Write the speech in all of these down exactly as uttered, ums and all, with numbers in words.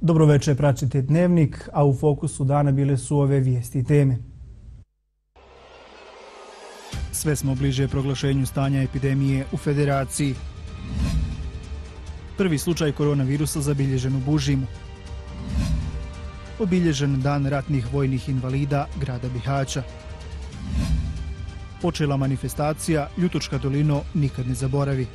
Dobro večer, pratite Dnevnik, a u fokusu dana bile su ove vijesti i teme. Sve smo bliže proglašenju stanja epidemije u Federaciji. Prvi slučaj koronavirusa zabilježen u Bužimu. Obilježen dan ratnih vojnih invalida grada Bihaća. Počela manifestacija Ljutočka dolino nikad ne zaboravi.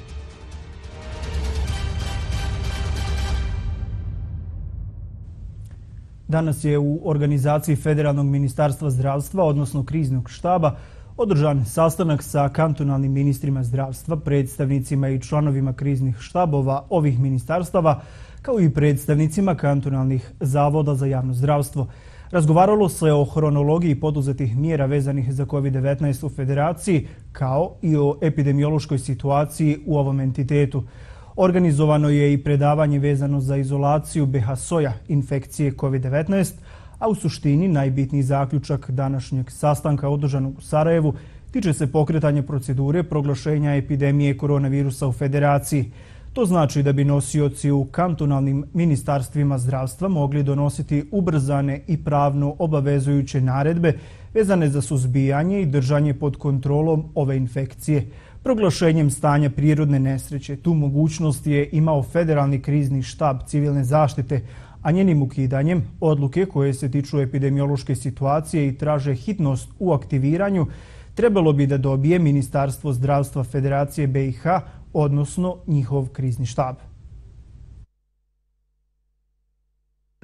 Danas je u organizaciji Federalnog ministarstva zdravstva, odnosno kriznog štaba, održan sastanak sa kantonalnim ministrima zdravstva, predstavnicima i članovima kriznih štabova ovih ministarstava, kao i predstavnicima kantonalnih zavoda za javno zdravstvo. Razgovaralo se o hronologiji poduzetih mjera vezanih za kovid devetnaest u Federaciji, kao i o epidemiološkoj situaciji u ovom entitetu. Organizovano je i predavanje vezano za izolaciju B H S O ja infekcije kovid devetnaest, a u suštini najbitniji zaključak današnjeg sastanka održanog u Sarajevu tiče se pokretanja procedure proglašenja epidemije koronavirusa u Federaciji. To znači da bi nosioci u kantonalnim ministarstvima zdravstva mogli donositi ubrzane i pravno obavezujuće naredbe vezane za suzbijanje i držanje pod kontrolom ove infekcije. Proglašenjem stanja prirodne nesreće tu mogućnost je imao Federalni krizni štab civilne zaštite, a njenim ukidanjem odluke koje se tiču epidemiološke situacije i traže hitnost u aktiviranju trebalo bi da dobije Ministarstvo zdravstva Federacije B i H, odnosno njihov krizni štab.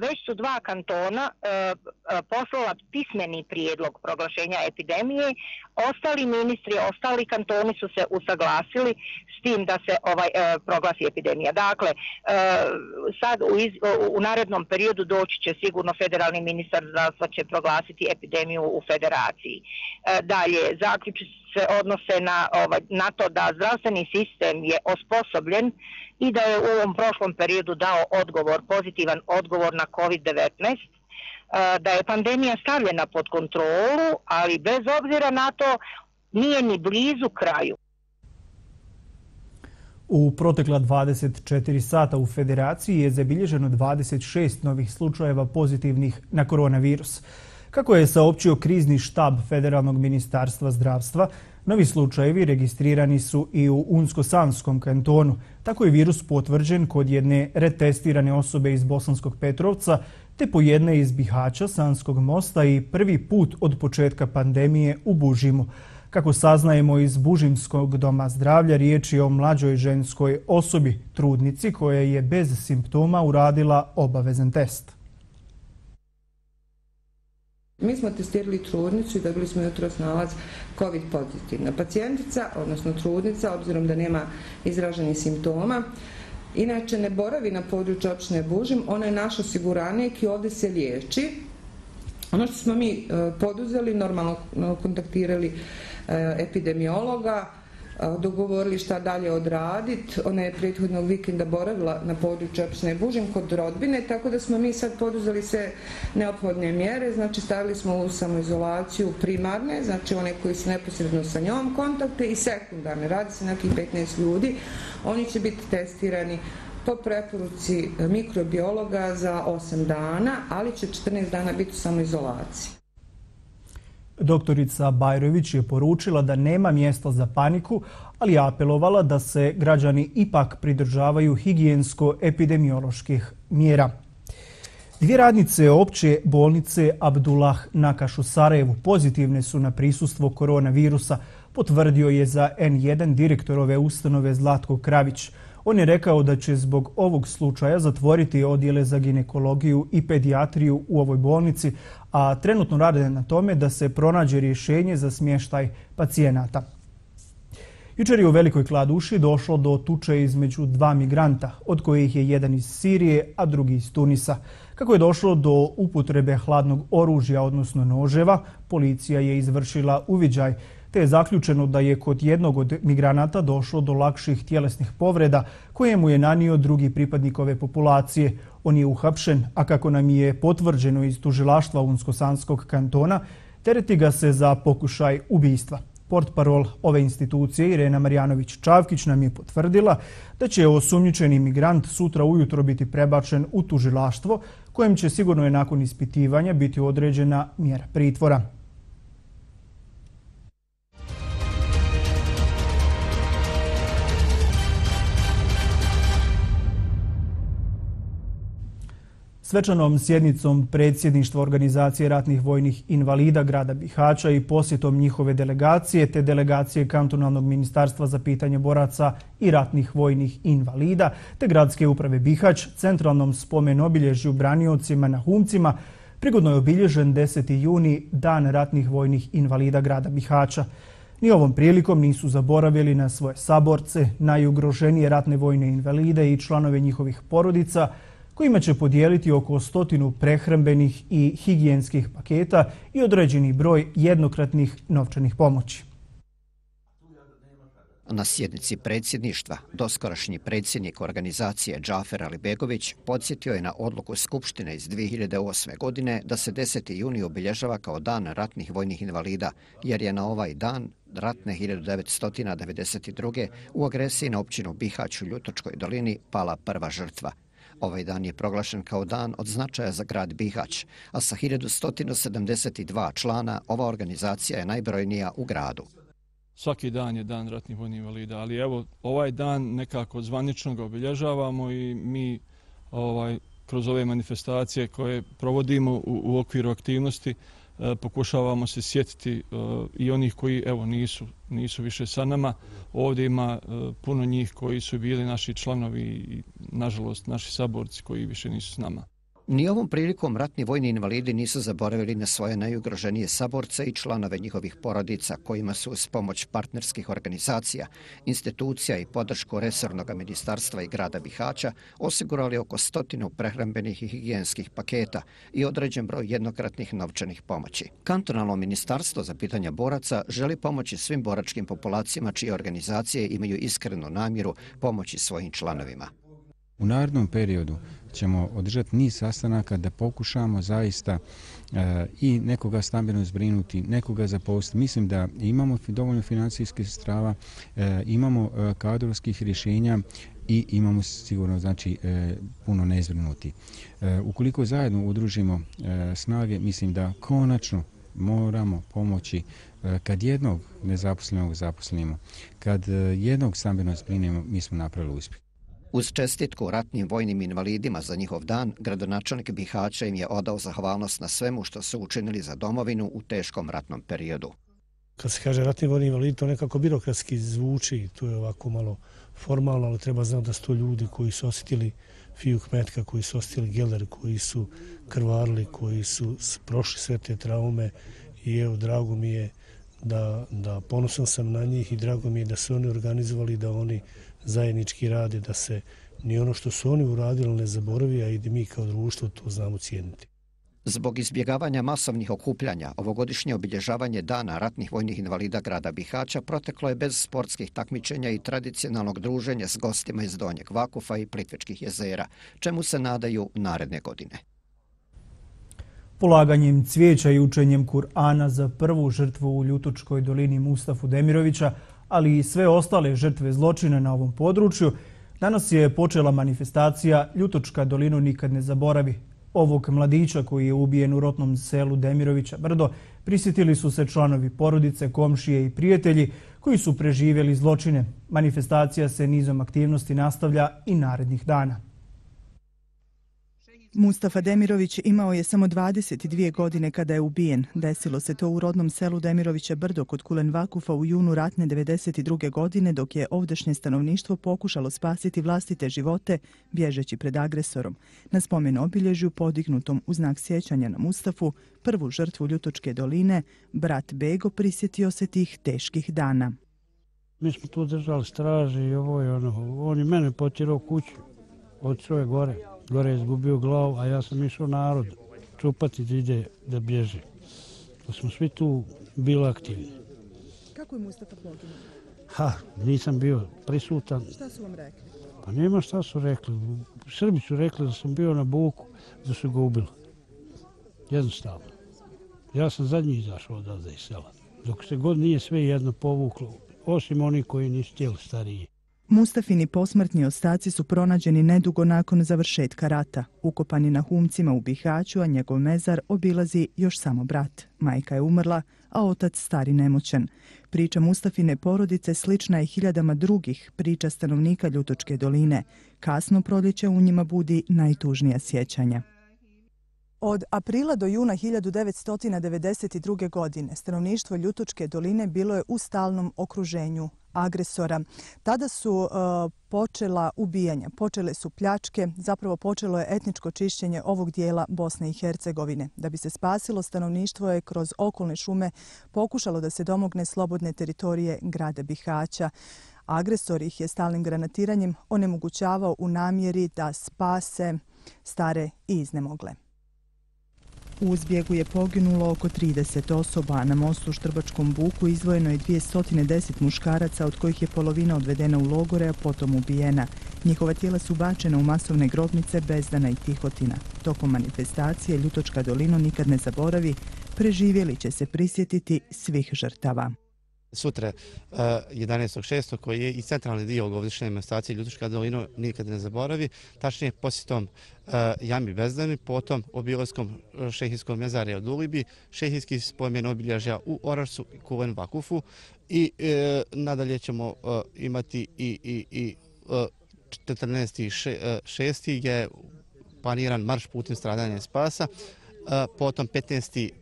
Već su dva kantona e, poslala pismeni prijedlog proglašenja epidemije. Ostali ministri, ostali kantoni su se usaglasili s tim da se ovaj e, proglasi epidemija. Dakle, e, sad u, iz, u narednom periodu doći će sigurno federalni ministar zdravstva će proglasiti epidemiju u Federaciji. E, dalje, zaključi se odnose na, ovaj, na to da zdravstveni sistem je osposobljen i da je u ovom prošlom periodu dao odgovor, pozitivan odgovor na kovid devetnaest, da je pandemija stavljena pod kontrolu, ali bez obzira na to nije ni blizu kraju. U protekla dvadeset četiri sata u Federaciji je zabilježeno dvadeset šest novih slučajeva pozitivnih na koronavirus. Kako je saopćio krizni štab Federalnog ministarstva zdravstva, novi slučajevi registrirani su i u Unsko-Sanskom kantonu. Tako je virus potvrđen kod jedne retestirane osobe iz Bosanskog Petrovca, te po jedne iz Bihaća, Sanskog mosta i prvi put od početka pandemije u Bužimu. Kako saznajemo iz Bužimskog doma zdravlja, riječ je o mlađoj ženskoj osobi, trudnici koja je bez simptoma uradila obavezan test. Mi smo testirali trudnicu i dobili smo jutros nalaz COVID pozitivna. Pacijentica, odnosno trudnica, obzirom da nema izraženih simptoma, inače ne boravi na području općine Bužim, ona je naš osiguranik i ovdje se liječi. Ono što smo mi poduzeli, normalno kontaktirali epidemiologa, dogovorili šta dalje odraditi. Ona je prethodnog vikenda boravila na području općine Bužim kod rodbine, tako da smo mi sad poduzeli sve neophodne mjere. Znači stavili smo u samoizolaciju primarne, znači one koji su neposredno sa njom kontakte, i sekundarne. Radi se nekih petnaest ljudi. Oni će biti testirani po preporuci mikrobiologa za osam dana, ali će četrnaest dana biti u samoizolaciji. Doktorica Bajrović je poručila da nema mjesta za paniku, ali je apelovala da se građani ipak pridržavaju higijensko-epidemioloških mjera. Dvije radnice opće bolnice Abdullah Nakaš u Sarajevu pozitivne su na prisustvo koronavirusa, potvrdio je za N jedan direktor ove ustanove Zlatko Kravić. On je rekao da će zbog ovog slučaja zatvoriti odjele za ginekologiju i pedijatriju u ovoj bolnici, a trenutno rade na tome da se pronađe rješenje za smještaj pacijenata. Jučer je u Velikoj Kladuši došlo do tuče između dva migranta, od kojih je jedan iz Sirije, a drugi iz Tunisa. Kako je došlo do upotrebe hladnog oružja, odnosno noževa, policija je izvršila uviđaj, te je zaključeno da je kod jednog od migranata došlo do lakših tjelesnih povreda koje mu je nanio drugi pripadnik ove populacije. On je uhapšen, a kako nam je potvrđeno iz tužilaštva Unsko-Sanskog kantona, tereti ga se za pokušaj ubistva. Portparol ove institucije Irena Marjanović-Čavkić nam je potvrdila da će osumnjičeni migrant sutra ujutro biti prebačen u tužilaštvo, kojem će sigurno je nakon ispitivanja biti određena mjera pritvora. Svečanom sjednicom predsjedništva Organizacije ratnih vojnih invalida grada Bihaća i posjetom njihove delegacije te delegacije Kantonalnog ministarstva za pitanje boraca i ratnih vojnih invalida te gradske uprave Bihać centralnom spomen obilježju braniocima na Humcima prigodno je obilježen deseti juni Dan ratnih vojnih invalida grada Bihaća. Ni ovom prilikom nisu zaboravili na svoje saborce, najugroženije ratne vojne invalide i članove njihovih porodica, kojima će podijeliti oko stotinu prehrambenih i higijenskih paketa i određeni broj jednokratnih novčanih pomoći. Na sjednici predsjedništva doskorašnji predsjednik organizacije Džafer Alibegović podsjetio je na odluku Skupštine iz dvije hiljade osme. godine da se deseti juni obilježava kao Dan ratnih vojnih invalida, jer je na ovaj dan ratne hiljadu devetsto devedeset druge. u agresiji na općinu Bihać u Ljutočkoj dolini pala prva žrtva. Ovaj dan je proglašen kao dan od značaja za grad Bihać, a sa hiljadu sto sedamdeset dva člana ova organizacija je najbrojnija u gradu. Svaki dan je Dan ratnih vojnih invalida, ali evo ovaj dan nekako zvanično ga obilježavamo i mi ovaj, kroz ove manifestacije koje provodimo u, u okviru aktivnosti e, pokušavamo se sjetiti e, i onih koji evo nisu, nisu više sa nama. Ovdje ima e, puno njih koji su bili naši članovi i nažalost naši saborci koji više nisu s nama. Ni ovom prilikom ratni vojni invalidi nisu zaboravili na svoje najugroženije saborce i članove njihovih porodica, kojima su uz pomoć partnerskih organizacija, institucija i podršku resornog ministarstva i grada Bihaća osigurali oko stotinu prehrambenih i higijenskih paketa i određen broj jednokratnih novčanih pomoći. Kantonalno ministarstvo za pitanja boraca želi pomoći svim boračkim populacijama čije organizacije imaju iskrenu namjeru pomoći svojim članovima. U narednom periodu ćemo održati niz sastanaka da pokušamo zaista e, i nekoga stambeno zbrinuti, nekoga zaposliti. Mislim da imamo dovoljno financijskih sredstava, e, imamo e, kadrovskih rješenja i imamo sigurno znači e, puno nezbrinuti. E, ukoliko zajedno udružimo e, snage, mislim da konačno moramo pomoći e, kad jednog nezaposlenog zaposlimo, kad e, jednog stambeno zbrinemo, mi smo napravili uspjeh. Uz čestitku ratnim vojnim invalidima za njihov dan, gradonačelnik Bihaća im je odao zahvalnost na svemu što su učinili za domovinu u teškom ratnom periodu. Kad se kaže ratni vojni invalid, to nekako birokratski zvuči, to je ovako malo formalno, ali treba znati da su to ljudi koji su osjetili fijuk metka, koji su osjetili geler, koji su krvarili, koji su prošli sve te traume i evo, drago mi je da, da ponosan sam na njih i drago mi je da su oni organizovali, da oni zajednički rade, da se ni ono što su oni uradili ne zaboravi, a i da mi kao društvo to znamo cijeniti. Zbog izbjegavanja masovnih okupljanja, ovogodišnje obilježavanje Dana ratnih vojnih invalida grada Bihaća proteklo je bez sportskih takmičenja i tradicionalnog druženja s gostima iz Donjeg Vakufa i Plitvičkih jezera, čemu se nadaju naredne godine. Polaganjem cvijeća i učenjem Kur'ana za prvu žrtvu u Ljutočkoj dolini Mustafu Demirovića, ali i sve ostale žrtve zločina na ovom području, danas je počela manifestacija Ljutočka dolinu nikad ne zaboravi. Ovog mladića koji je ubijen u rotnom selu Demirovića Brdo prisjetili su se članovi porodice, komšije i prijatelji koji su preživjeli zločine. Manifestacija se nizom aktivnosti nastavlja i narednih dana. Mustafa Demirović imao je samo dvadeset dvije godine kada je ubijen. Desilo se to u rodnom selu Demirovića Brdo kod Kulen Vakufa u junu ratne devedeset druge. godine dok je ovdašnje stanovništvo pokušalo spasiti vlastite živote bježeći pred agresorom. Na spomen obilježju podignutom u znak sjećanja na Mustafu, prvu žrtvu Ljutočke doline, brat Bego prisjetio se tih teških dana. Mi smo tu držali straže i ovo i ono. On je mene potjerao kuću od svoje gore. Gore je izgubio glavu, a ja sam išao narod čupati da ide da bježe. To smo svi tu bili aktivni. Kako je Mustafa poginuo? Ha, nisam bio prisutan. Šta su vam rekli? Pa nema šta su rekli. Srbi su rekli da sam bio na buku, da su ga ubili. Jednostavno. Ja sam zadnji izašao odavde iz sela. dok se god nije sve jedno povuklo, osim oni koji nisu htjeli stariji. Mustafini posmrtni ostaci su pronađeni nedugo nakon završetka rata. Ukopani na Humcima u Bihaću, a njegov mezar obilazi još samo brat. Majka je umrla, a otac stari nemoćan. Priča Mustafine porodice slična je hiljadama drugih priča stanovnika Ljutočke doline. Kasno proljeće u njima budi najtužnija sjećanja. Od aprila do juna hiljadu devetsto devedeset druge. godine stanovništvo Ljutočke doline bilo je u stalnom okruženju agresora. Tada su uh, počela ubijanja, počele su pljačke, zapravo počelo je etničko čišćenje ovog dijela Bosne i Hercegovine. Da bi se spasilo, stanovništvo je kroz okolne šume pokušalo da se domogne slobodne teritorije grada Bihaća. Agresor ih je stalnim granatiranjem onemogućavao u namjeri da spase stare i iznemogle. U zbjegu je poginulo oko trideset osoba, a na mostu u Štrbačkom buku izdvojeno je dvjesto deset muškaraca, od kojih je polovina odvedena u logore, a potom ubijena. Njihova tijela su bačena u masovne grobnice Bezdana i Tihotina. Tokom manifestacije Ljutočka dolina nikad ne zaboravi, preživjeli će se prisjetiti svih žrtava. Sutra, jedanaestog šestog koji je i centralni dio godišnje manifestacije Ljutočka dolina nikad ne zaboravi, tačnije posjetom Jami Bezdani, potom obilaskom šehijskog mezarja u Dulibi, šehijski spomen obilježja u Orašcu i Kulen Vakufu i e, nadalje ćemo e, imati i, i, i četrnaesti šesti gdje je planiran marš putem stradanja i spasa, e, potom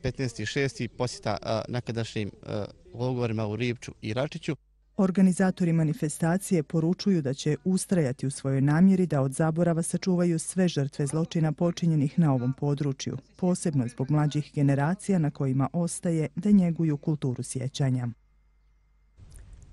petnaesti šesti posjeta e, nekadašnjim e, logorima u Ripču i Račiću. Organizatori manifestacije poručuju da će ustrajati u svojoj namjeri da od zaborava sačuvaju sve žrtve zločina počinjenih na ovom području, posebno zbog mlađih generacija na kojima ostaje da njeguju kulturu sjećanja.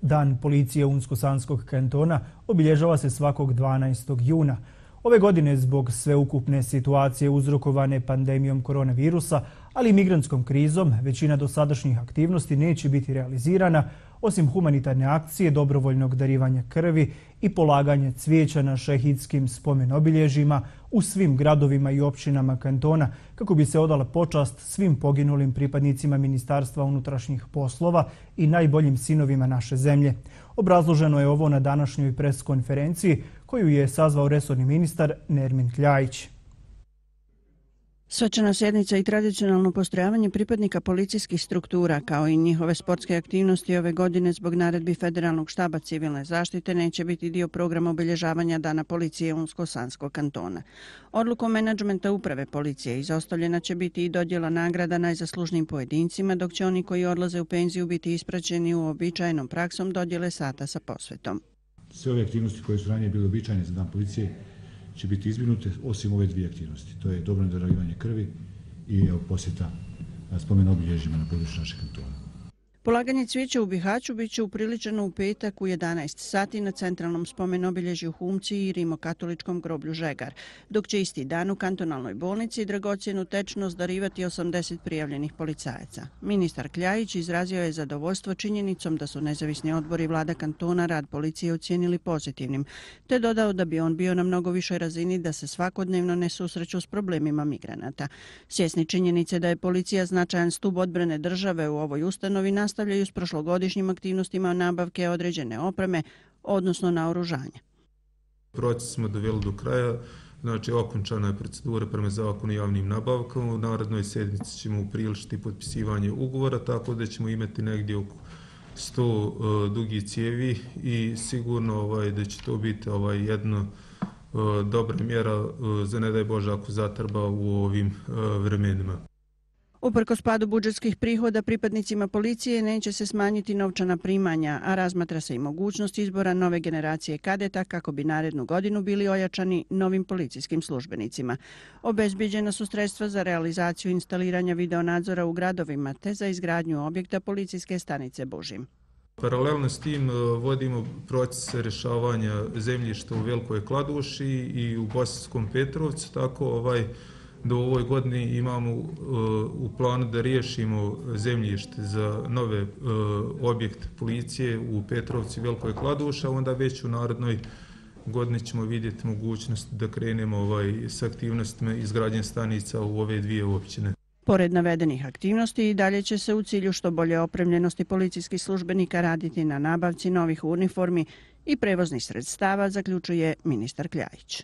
Dan policije Unsko-Sanskog kantona obilježava se svakog dvanaestog juna. Ove godine zbog sveukupne situacije uzrokovane pandemijom koronavirusa, ali i migrantskom krizom, većina dosadašnjih aktivnosti neće biti realizirana, osim humanitarne akcije, dobrovoljnog darivanja krvi i polaganja cvijeća na šehidskim spomen obilježjima u svim gradovima i općinama kantona, kako bi se odala počast svim poginulim pripadnicima Ministarstva unutrašnjih poslova i najboljim sinovima naše zemlje. Obrazloženo je ovo na današnjoj preskonferenciji koju je sazvao resorni ministar Nermin Kljajić. Svečana sjednica i tradicionalno postrojavanje pripadnika policijskih struktura kao i njihove sportske aktivnosti ove godine zbog naredbi Federalnog štaba civilne zaštite neće biti dio programa obilježavanja Dana policije Unsko-Sanskog kantona. Odlukom menadžmenta uprave policije izostavljena će biti i dodjela nagrada najzaslužnijim pojedincima, dok će oni koji odlaze u penziju biti ispraćeni uobičajenom praksom dodjele sata sa posvetom. Sve ove aktivnosti koje su ranije bile običajne za Dan policije će biti izbjegnute osim ove dvije aktivnosti. To je dobrovoljno darivanje krvi i posjeta spomen obilježjima na području našeg kantona. Polaganje cvijeća u Bihaću bit će upriličeno u petak u jedanaest sati na centralnom spomen obilježju Humci i rimokatoličkom groblju Žegar, dok će isti dan u kantonalnoj bolnici dragocjenu tečnost darivati osamdeset prijavljenih policajaca. Ministar Kljajić izrazio je zadovoljstvo činjenicom da su nezavisni odbori vlada kantona rad policije ocijenili pozitivnim, te dodao da bi on bio na mnogo višoj razini da se svakodnevno ne susreću s problemima migranata. Svjesni činjenice da je policija značajan stub odbrane države u ovoj ustanovi nastavljaju s prošlogodišnjim aktivnostima nabavke određene opreme, odnosno naoružanja. Proces smo doveli do kraja, znači okončana je procedura prema zakonu o javnim nabavkama. U narednoj sedmici ćemo upriličiti potpisivanje ugovora, tako da ćemo imati negdje oko sto uh, dugih cijevi i sigurno ovaj, da će to biti ovaj, jedna uh, dobra mjera uh, za ne daj Bože ako zatrba u ovim uh, vremenima. Uprkos padu budžetskih prihoda, pripadnicima policije neće se smanjiti novčana primanja, a razmatra se i mogućnost izbora nove generacije kadeta kako bi narednu godinu bili ojačani novim policijskim službenicima. Obezbijeđena su sredstva za realizaciju instaliranja videonadzora u gradovima te za izgradnju objekta policijske stanice Bužim. Paralelno s tim vodimo proces rješavanja zemljišta u Velikoj Kladuši i u Bosanskom Petrovcu, tako ovaj do ovoj godini imamo uh, u planu da riješimo zemljište za nove uh, objekte policije u Petrovci i Velikoj Kladuši, a onda već u narodnoj godini ćemo vidjeti mogućnost da krenemo ovaj, s aktivnostima izgradnje stanica u ove dvije općine. Pored navedenih aktivnosti i dalje će se u cilju što bolje opremljenosti policijskih službenika raditi na nabavci novih uniformi i prevoznih sredstava, zaključuje ministar Kljajić.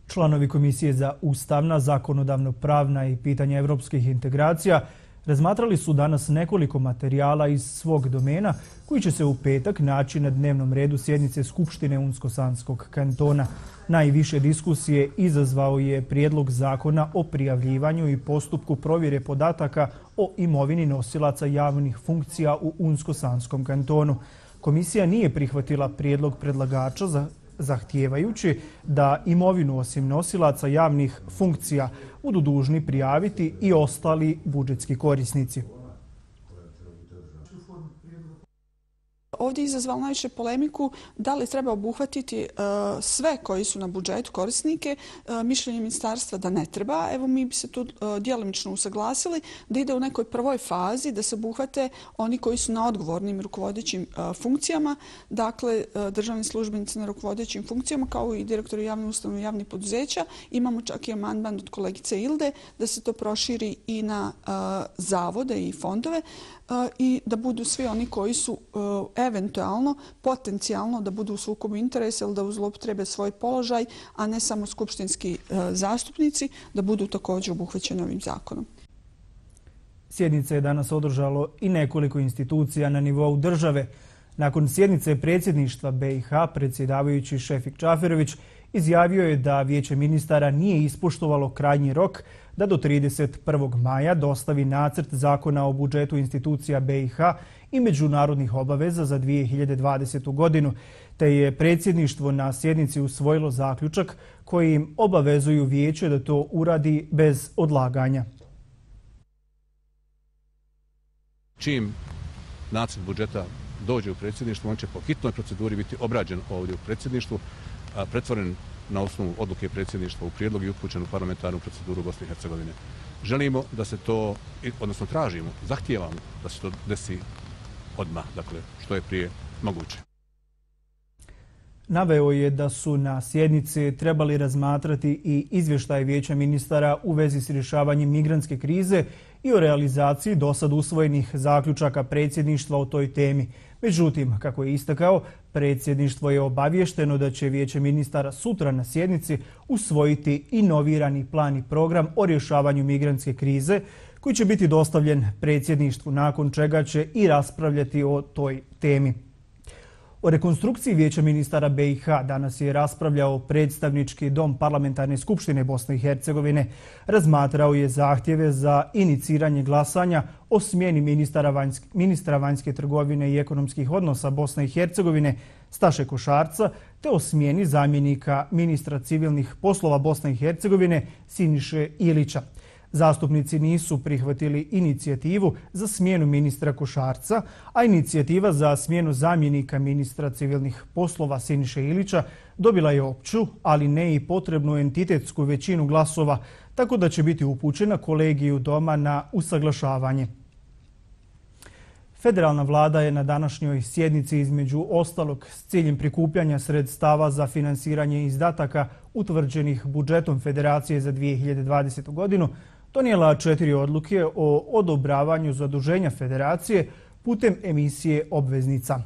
Članovi Komisije za ustavna, zakonodavno-pravna i pitanja evropskih integracija razmatrali su danas nekoliko materijala iz svog domena koji će se u petak naći na dnevnom redu sjednice Skupštine Unsko-Sanskog kantona. Najviše diskusije izazvao je prijedlog zakona o prijavljivanju i postupku provjere podataka o imovini nosilaca javnih funkcija u Unsko-Sanskom kantonu. Komisija nije prihvatila prijedlog predlagača za zahtijevajući da imovinu osim nosilaca javnih funkcija budu dužni prijaviti i ostali budžetski korisnici. Ovdje je izazvalo najviše polemiku da li treba obuhvatiti uh, sve koji su na budžetu korisnike. Uh, mišljenje ministarstva da ne treba. Evo mi bi se tu uh, djelomično usaglasili da ide u nekoj prvoj fazi da se obuhvate oni koji su na odgovornim rukovodećim uh, funkcijama, dakle uh, državni službenici na rukovodećim funkcijama kao i direktori javnih ustanova i javnih poduzeća. Imamo čak i amandman od kolegice Ilde da se to proširi i na uh, zavode i fondove uh, i da budu svi oni koji su uh, eventualno, potencijalno da budu u sukobu interesa ili da zloupotrebe svoj položaj, a ne samo skupštinski e, zastupnici, da budu također obuhvaćeni ovim zakonom. Sjednice je danas održalo i nekoliko institucija na nivou države. Nakon sjednice predsjedništva B i H, predsjedavajući Šefik Čaferović izjavio je da Vijeće ministara nije ispoštovalo krajnji rok da do trideset prvog maja dostavi nacrt zakona o budžetu institucija B i H i međunarodnih obaveza za dvije hiljade dvadesetu. godinu, te je predsjedništvo na sjednici usvojilo zaključak koji im obavezuju vijeće da to uradi bez odlaganja. Čim nacrt budžeta dođe u predsjedništvo, on će po hitnoj proceduri biti obrađen ovdje u predsjedništvu, pretvoren na osnovu odluke predsjedništva u prijedlog i upućen u parlamentarnu proceduru Bosne i Hercegovine. Želimo da se to, odnosno tražimo, zahtijevamo da se to desi odmah, dakle, što je prije moguće. Naveo je da su na sjednici trebali razmatrati i izvještaj Vijeća ministara u vezi s rješavanjem migrantske krize i o realizaciji dosad usvojenih zaključaka predsjedništva o toj temi. Međutim, kako je istakao, predsjedništvo je obavješteno da će Vijeće ministara sutra na sjednici usvojiti inovirani plan i program o rješavanju migrantske krize, koji će biti dostavljen predsjedništvu, nakon čega će i raspravljati o toj temi. O rekonstrukciji Vijeća ministara B i H danas je raspravljao predstavnički dom Parlamentarne skupštine Bosne i Hercegovine. Razmatrao je zahtjeve za iniciranje glasanja o smjeni ministra vanjske, ministra vanjske trgovine i ekonomskih odnosa Bosne i Hercegovine Staše Košarca, te o smjeni zamjenika ministra civilnih poslova Bosne i Hercegovine Siniše Ilića. Zastupnici nisu prihvatili inicijativu za smjenu ministra Košarca, a inicijativa za smjenu zamjenika ministra civilnih poslova Siniše Ilića dobila je opću, ali ne i potrebnu entitetsku većinu glasova, tako da će biti upućena kolegiju doma na usaglašavanje. Federalna vlada je na današnjoj sjednici između ostalog s ciljem prikupljanja sredstava za finansiranje izdataka utvrđenih budžetom Federacije za dvije hiljade dvadesetu. godinu donijela četiri odluke o odobravanju zaduženja Federacije putem emisije obveznica.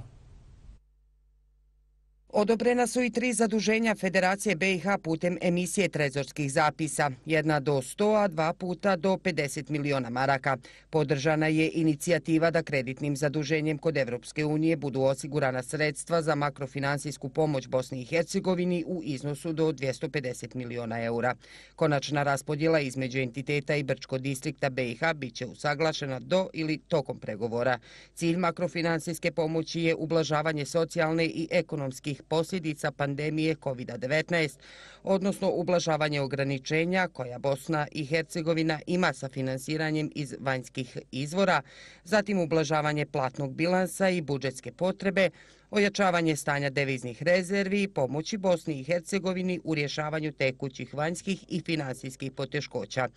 Odobrena su i tri zaduženja Federacije B i H putem emisije trezorskih zapisa, jedna do sto, a dva puta do pedeset miliona maraka. Podržana je inicijativa da kreditnim zaduženjem kod Evropske unije budu osigurana sredstva za makrofinansijsku pomoć Bosni i Hercegovini u iznosu do dvjesto pedeset miliona eura. Konačna raspodjela između entiteta i Brčko distrikta B i H biće usaglašena do ili tokom pregovora. Cilj makrofinansijske pomoći je ublažavanje socijalne i ekonomskih posljedica pandemije kovid devetnaest, odnosno ublažavanje ograničenja koja Bosna i Hercegovina ima sa finansiranjem iz vanjskih izvora, zatim ublažavanje platnog bilansa i budžetske potrebe, ojačavanje stanja deviznih rezervi i pomoći Bosni i Hercegovini u rješavanju tekućih vanjskih i finansijskih poteškoća.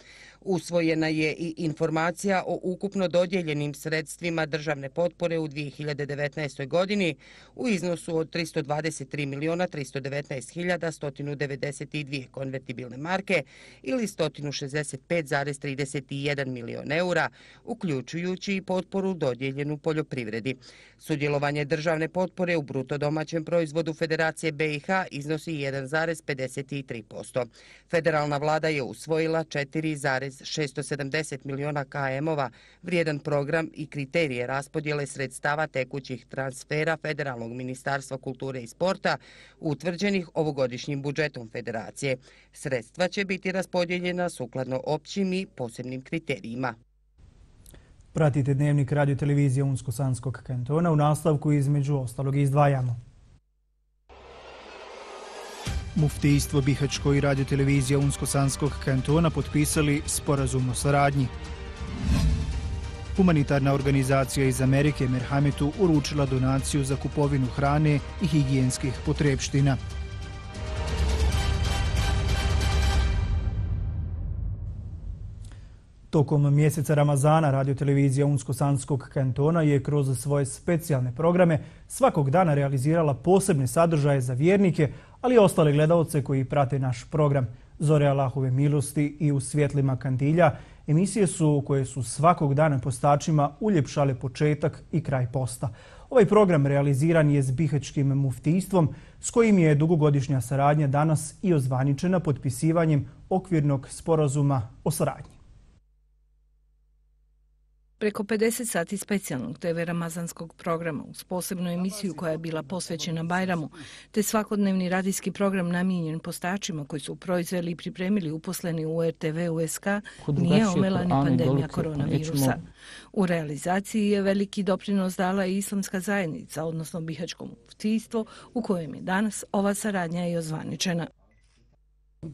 Usvojena je i informacija o ukupno dodijeljenim sredstvima državne potpore u dvije hiljade devetnaestoj godini u iznosu od tristo dvadeset tri miliona tristo devetnaest hiljada sto devedeset dvije konvertibilne marke ili sto šezdeset pet zarez trideset jedan milion eura, uključujući i potporu dodijeljenu poljoprivredi. Sudjelovanje državne potpore u bruto domaćem proizvodu Federacije B i H iznosi jedan zarez pedeset tri posto. Federalna vlada je usvojila četiri zarez šesto sedamdeset miliona K M-ova vrijedan program i kriterije raspodjele sredstava tekućih transfera Federalnog ministarstva kulture i sporta utvrđenih ovogodišnjim budžetom Federacije. Sredstva će biti raspodijeljena sukladno općim i posebnim kriterijima. Pratite dnevnik radio televizije Unsko-Sanskog kantona. U nastavku između ostalog izdvajamo. Muftijstvo Bihaćko i radio televizija Unsko-Sanskog kantona potpisali sporazum o saradnji. Humanitarna organizacija iz Amerike Merhametu uručila donaciju za kupovinu hrane i higijenskih potrepština. Tokom mjeseca Ramazana radiotelevizija Unsko-Sanskog kantona je kroz svoje specijalne programe svakog dana realizirala posebne sadržaje za vjernike, ali i ostale gledaoce koji prate naš program. Zore Allahove milosti i U svjetlima kandilja emisije su koje su svakog dana postačima uljepšale početak i kraj posta. Ovaj program realiziran je s Bihaćkim muftijstvom s kojim je dugogodišnja saradnja danas i ozvaničena potpisivanjem okvirnog sporazuma o saradnji. Preko pedeset sati specijalnog te ve ramazanskog programa uz posebnu emisiju koja je bila posvećena Bajramu, te svakodnevni radijski program namijenjen postačima koji su proizveli i pripremili uposleni u R T V U S K, nije omela ni pandemija koronavirusa. U realizaciji je veliki doprinos dala i islamska zajednica, odnosno Bihaćko muftijstvo, u kojem je danas ova saradnja i ozvaničena.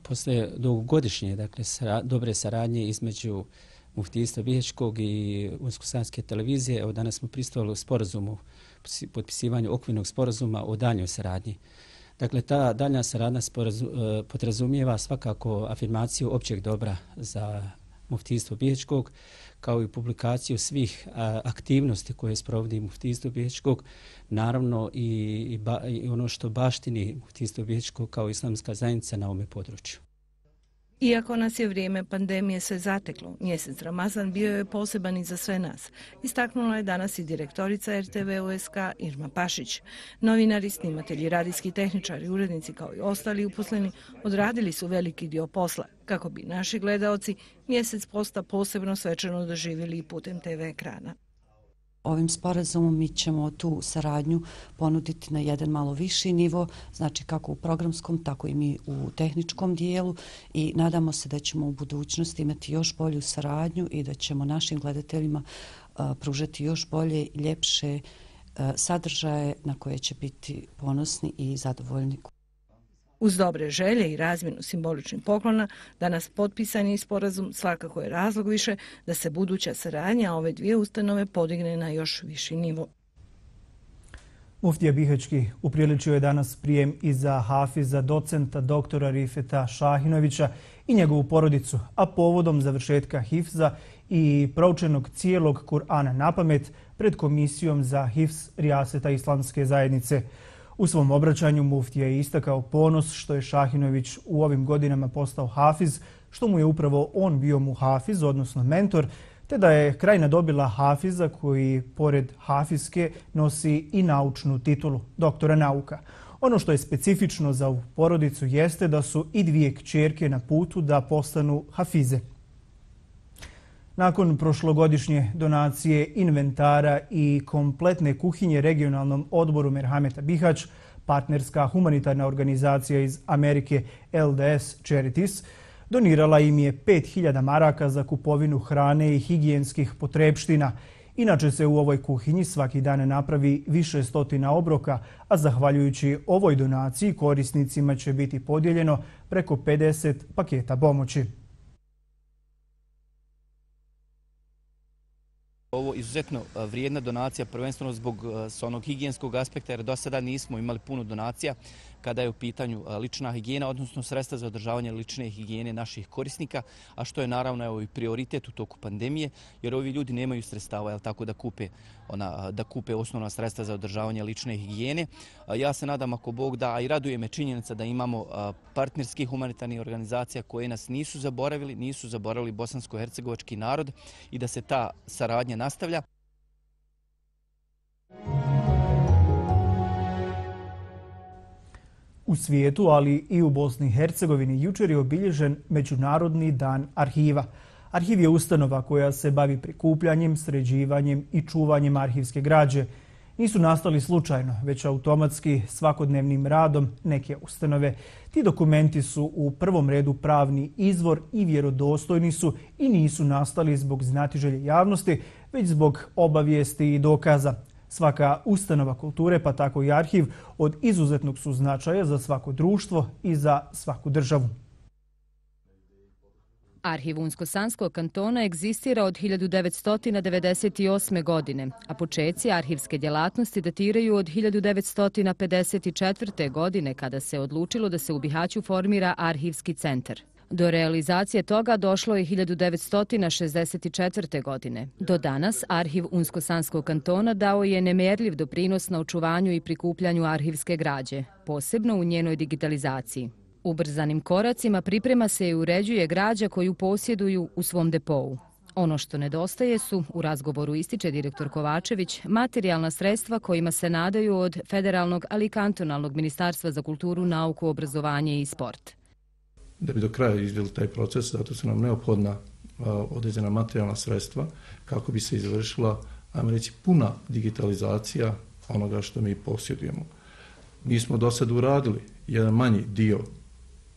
Posle dugogodišnje dakle, sara, dobre saradnje između muftijstva Bihaćkog i Unsko-Sanske televizije, evo danas smo pristupili u sporazumu, potpisivanju okvirnog sporazuma o daljnjoj saradnji. Dakle, ta daljnja saradnja sporazum, podrazumijeva svakako afirmaciju općeg dobra za muftijstvo Bihaćkog, kao i publikaciju svih aktivnosti koje sprovodi muftijstvo Bihaćkog, naravno i, i, ba, i ono što baštini muftijstvo Bihaćkog kao islamska zajednica na ovome području. Iako nas je vrijeme pandemije sve zateklo, mjesec Ramazan bio je poseban i za sve nas. Istaknula je danas i direktorica R T V U S K Irma Pašić. Novinari, snimatelji, radijski tehničari, urednici kao i ostali uposleni odradili su veliki dio posla kako bi naši gledaoci mjesec posta posebno svečano doživjeli i putem T V ekrana. Ovim sporazumom mi ćemo tu saradnju ponuditi na jedan malo viši nivo, znači kako u programskom, tako i mi u tehničkom dijelu i nadamo se da ćemo u budućnosti imati još bolju saradnju i da ćemo našim gledateljima uh, pružati još bolje i ljepše uh, sadržaje na koje će biti ponosni i zadovoljni. Uz dobre želje i razmjenu simboličnih poklona, danas potpisani sporazum svakako je razlog više da se buduća saradnja ove dvije ustanove podigne na još viši nivo. Muftija Bihaćki upriličio je danas prijem i za hafiza docenta doktora Rifeta Šahinovića i njegovu porodicu, a povodom završetka hifza i proučenog cijelog Kur'ana napamet pred Komisijom za hifz Rijaseta Islamske zajednice. U svom obraćanju muftija je istakao ponos što je Šahinović u ovim godinama postao hafiz, što mu je upravo on bio mu hafiz, odnosno mentor, te da je krajina dobila hafiza koji, pored hafizke, nosi i naučnu titulu doktora nauka. Ono što je specifično za ovu porodicu jeste da su i dvije kćerke na putu da postanu hafize. Nakon prošlogodišnje donacije inventara i kompletne kuhinje regionalnom odboru Merhameta Bihać, partnerska humanitarna organizacija iz Amerike L D S Charities donirala im je pet hiljada maraka za kupovinu hrane i higijenskih potrepština. Inače se u ovoj kuhinji svaki dan napravi više stotina obroka, a zahvaljujući ovoj donaciji korisnicima će biti podijeljeno preko pedeset paketa pomoći. Ovo je izuzetno vrijedna donacija, prvenstveno zbog s onog higijenskog aspekta, jer do sada nismo imali puno donacija kada je u pitanju lična higijena, odnosno sredstva za održavanje lične higijene naših korisnika, a što je naravno evo, i prioritet u toku pandemije, jer ovi ljudi nemaju sredstava, jel, tako da kupe, ona, da kupe osnovna sredstva za održavanje lične higijene. Ja se nadam, ako Bog da, a i raduje me činjenica da imamo partnerskih humanitarnih organizacija koje nas nisu zaboravili, nisu zaboravili bosansko-hercegovački narod i da se ta saradnja nastavlja. U svijetu, ali i u Bosni i Hercegovini, jučer je obilježen Međunarodni dan arhiva. Arhiv je ustanova koja se bavi prikupljanjem, sređivanjem i čuvanjem arhivske građe. Nisu nastali slučajno, već automatski svakodnevnim radom neke ustanove. Ti dokumenti su u prvom redu pravni izvor i vjerodostojni su i nisu nastali zbog znatiželje javnosti, već zbog obavijesti i dokaza. Svaka ustanova kulture, pa tako i arhiv, od izuzetnog su značaja za svako društvo i za svaku državu. Arhiv Unsko-Sanskog kantona egzistira od hiljadu devetsto devedeset osme. godine, a počeci arhivske djelatnosti datiraju od hiljadu devetsto pedeset četvrte. godine kada se odlučilo da se u Bihaću formira arhivski centar. Do realizacije toga došlo je hiljadu devetsto šezdeset četvrte. godine. Do danas Arhiv Unsko-Sanskog kantona dao je nemjerljiv doprinos na očuvanju i prikupljanju arhivske građe, posebno u njenoj digitalizaciji. Ubrzanim koracima priprema se i uređuje građa koju posjeduju u svom depou. Ono što nedostaje su, u razgovoru ističe direktor Kovačević, materijalna sredstva kojima se nadaju od federalnog, ali i kantonalnog ministarstva za kulturu, nauku, obrazovanje i sport. Da bi do kraja izveli taj proces, zato su nam neophodna određena materijalna sredstva kako bi se izvršila, ajmo reći, puna digitalizacija onoga što mi posjedujemo. Mi smo do sad uradili jedan manji dio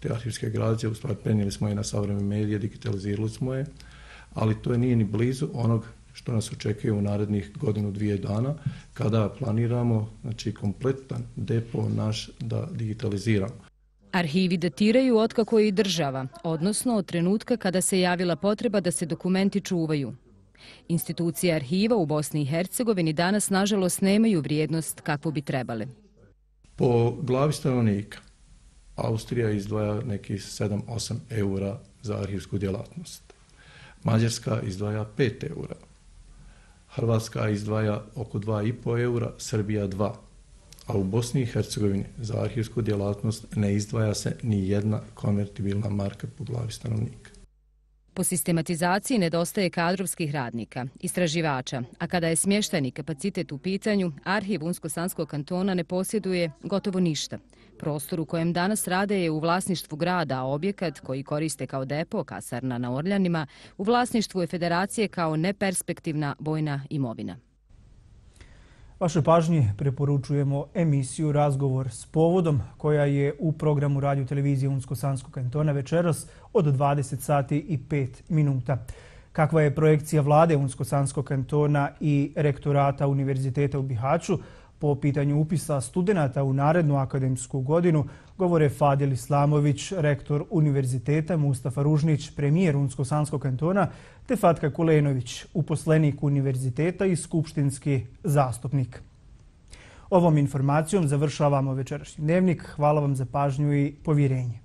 te arhivske građe, u stvari prenijeli smo je na savremene medije, digitalizirali smo je, ali to je nije ni blizu onog što nas očekuje u narednih godinu, dvije dana, kada planiramo, znači, kompletan depo naš da digitaliziramo. Arhivi datiraju otkako je i država, odnosno od trenutka kada se javila potreba da se dokumenti čuvaju. Institucije arhiva u Bosni i Hercegovini danas, nažalost, nemaju vrijednost kakvu bi trebale. Po glavi stanovnika Austrija izdvaja nekih sedam do osam eura za arhivsku djelatnost. Mađarska izdvaja pet eura. Hrvatska izdvaja oko dva i po eura, Srbija dva. A u Bosni i Hercegovini za arhivsku djelatnost ne izdvaja se ni jedna konvertibilna marka po glavi stanovnika. Po sistematizaciji nedostaje kadrovskih radnika, istraživača, a kada je smještajni kapacitet u pitanju, Arhiv Unsko-Sanskog kantona ne posjeduje gotovo ništa. Prostor u kojem danas rade je u vlasništvu grada, a objekat koji koriste kao depo, kasarna na Orljanima, u vlasništvu je federacije kao neperspektivna vojna imovina. Vaše pažnje preporučujemo emisiju Razgovor s povodom, koja je u programu radio televizije Unsko-Sanskog kantona večeras od dvadeset sati i pet minuta. Kakva je projekcija vlade Unsko-Sanskog kantona i rektorata Univerziteta u Bihaću po pitanju upisa studenata u narednu akademsku godinu, govore Fadil Islamović, rektor univerziteta, Mustafa Ružnić, premijer Unsko-Sanskog kantona, te Fatka Kulenović, uposlenik univerziteta i skupštinski zastupnik. Ovom informacijom završavamo večerašnji dnevnik. Hvala vam za pažnju i povjerenje.